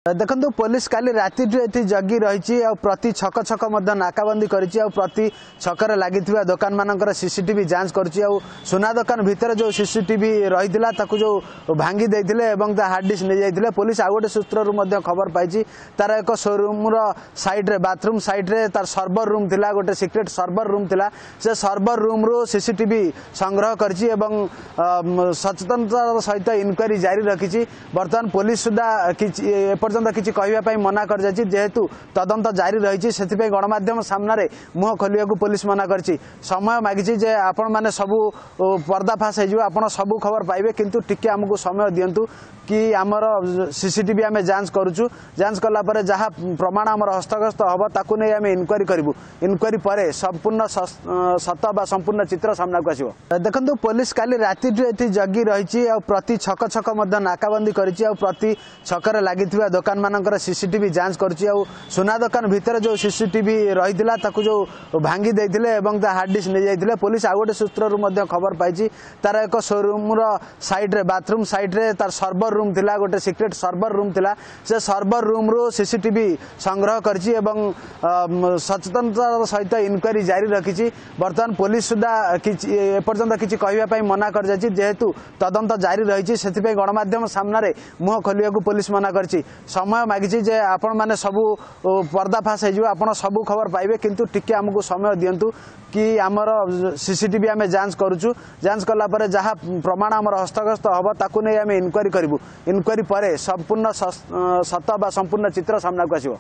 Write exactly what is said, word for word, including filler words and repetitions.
ଦେଖନ୍ତୁ, ପୋଲିସ କାଲି ରାତିଠୁ ଏଠି ଜଗି ରହିଛି ଆଉ ପ୍ରତି ଛକ ଛକ ମଧ୍ୟ ନାକାବନ୍ଦି କରିଛି, ଆଉ ପ୍ରତି ଛକରେ ଲାଗିଥିବା ଦୋକାନମାନଙ୍କର ସିସିଟିଭି ଯାଞ୍ଚ କରୁଛି। ଆଉ ସୁନା ଦୋକାନ ଭିତରେ ଯେଉଁ ସିସିଟିଭି ରହିଥିଲା ତାକୁ ଯେଉଁ ଭାଙ୍ଗି ଦେଇଥିଲେ ଏବଂ ତା ହାର୍ଡ ଡିସ୍କ ନେଇଯାଇଥିଲେ, ପୋଲିସ ଆଉ ଗୋଟେ ସୂତ୍ରରୁ ମଧ୍ୟ ଖବର ପାଇଛି ତାର ଏକ ସୋରୁମ୍ର ସାଇଡ୍ରେ, ବାଥରୁମ୍ ସାଇଡ୍ରେ ତାର ସର୍ଭର ରୁମ୍ ଥିଲା, ଗୋଟେ ସିକ୍ରେଟ୍ ସର୍ଭର ରୁମ୍ ଥିଲା। ସେ ସର୍ଭର ରୁମ୍ରୁ ସିସିଟିଭି ସଂଗ୍ରହ କରିଛି ଏବଂ ସଚେତନତାର ସହିତ ଇନକ୍ୱାରି ଜାରି ରଖିଛି। ବର୍ତ୍ତମାନ ପୋଲିସ ସୁଦ୍ଧା କିଛି ଏପର୍ଯ୍ୟନ୍ତ କିଛି କହିବା ପାଇଁ ମନା କରିଯାଇଛି। ଯେହେତୁ ତଦନ୍ତ ଜାରି ରହିଛି, ସେଥିପାଇଁ ଗଣମାଧ୍ୟମ ସାମ୍ନାରେ ମୁହଁ ଖୋଲିବାକୁ ପୋଲିସ ମନା କରିଛି। ସମୟ ମାଗିଛି ଯେ ଆପଣମାନେ ସବୁ ପର୍ଦ୍ଦାଫାଶ ହେଇଯିବ, ଆପଣ ସବୁ ଖବର ପାଇବେ, କିନ୍ତୁ ଟିକେ ଆମକୁ ସମୟ ଦିଅନ୍ତୁ କି ଆମର ସିସିଟିଭି ଆମେ ଯାଞ୍ଚ କରୁଛୁ, ଯାଞ୍ଚ କଲା ପରେ ଯାହା ପ୍ରମାଣ ଆମର ହସ୍ତଗତ ହେବ ତାକୁ ନେଇ ଆମେ ଇନକ୍ୱାରି କରିବୁ, ଇନକ୍ୱାରି ପରେ ସମ୍ପୂର୍ଣ୍ଣ ସତ ବା ସମ୍ପୂର୍ଣ୍ଣ ଚିତ୍ର ସାମ୍ନାକୁ ଆସିବ। ଦେଖନ୍ତୁ, ପୋଲିସ କାଲି ରାତିଠୁ ଏଠି ଜଗି ରହିଛି ଆଉ ପ୍ରତି ଛକ ଛକ ମଧ୍ୟ ନାକାବନ୍ଦି କରିଛି, ଆଉ ପ୍ରତି ଛକରେ ଲାଗିଥିବା ଦୋକାନମାନଙ୍କର ସିସିଟିଭି ଯାଞ୍ଚ କରୁଛି। ଆଉ ସୁନା ଦୋକାନ ଭିତରେ ଯେଉଁ ସିସିଟିଭି ରହିଥିଲା ତାକୁ ଯେଉଁ ଭାଙ୍ଗି ଦେଇଥିଲେ ଏବଂ ତା ହାର୍ଡ ଡିସ୍କ ନେଇଯାଇଥିଲେ, ପୋଲିସ ଆଉ ଗୋଟେ ସୂତ୍ରରୁ ମଧ୍ୟ ଖବର ପାଇଛି ତାର ଏକ ସୋରୁମ୍ର ସାଇଡ୍ରେ, ବାଥରୁମ୍ ସାଇଡ୍ରେ ତାର ସର୍ଭର ରୁମ୍ ଥିଲା, ଗୋଟେ ସିକ୍ରେଟ୍ ସର୍ଭର ରୁମ୍ ଥିଲା। ସେ ସର୍ଭର ରୁମ୍ରୁ ସିସିଟିଭି ସଂଗ୍ରହ କରିଛି ଏବଂ ସଚେତନତାର ସହିତ ଇନକ୍ୱାରି ଜାରି ରଖିଛି। ବର୍ତ୍ତମାନ ପୋଲିସ ସୁଦ୍ଧା କିଛି ଏପର୍ଯ୍ୟନ୍ତ କିଛି କହିବା ପାଇଁ ମନା କରିଯାଇଛି। ଯେହେତୁ ତଦନ୍ତ ଜାରି ରହିଛି, ସେଥିପାଇଁ ଗଣମାଧ୍ୟମ ସାମ୍ନାରେ ମୁହଁ ଖୋଲିବାକୁ ପୋଲିସ ମନା କରିଛି। ସମୟ ମାଗିଛି ଯେ ଆପଣମାନେ ସବୁ ପର୍ଦ୍ଦାଫାଶ ହେଇଯିବ, ଆପଣ ସବୁ ଖବର ପାଇବେ, କିନ୍ତୁ ଟିକେ ଆମକୁ ସମୟ ଦିଅନ୍ତୁ କି ଆମର ସିସିଟିଭି ଆମେ ଯାଞ୍ଚ କରୁଛୁ, ଯାଞ୍ଚ କଲା ପରେ ଯାହା ପ୍ରମାଣ ଆମର ହସ୍ତଗତ ହେବ ତାକୁ ନେଇ ଆମେ ଇନକ୍ୱାରି କରିବୁ, ଇନକ୍ୱାରି ପରେ ସମ୍ପୂର୍ଣ୍ଣ ସତ ବା ସମ୍ପୂର୍ଣ୍ଣ ଚିତ୍ର ସାମ୍ନାକୁ ଆସିବ।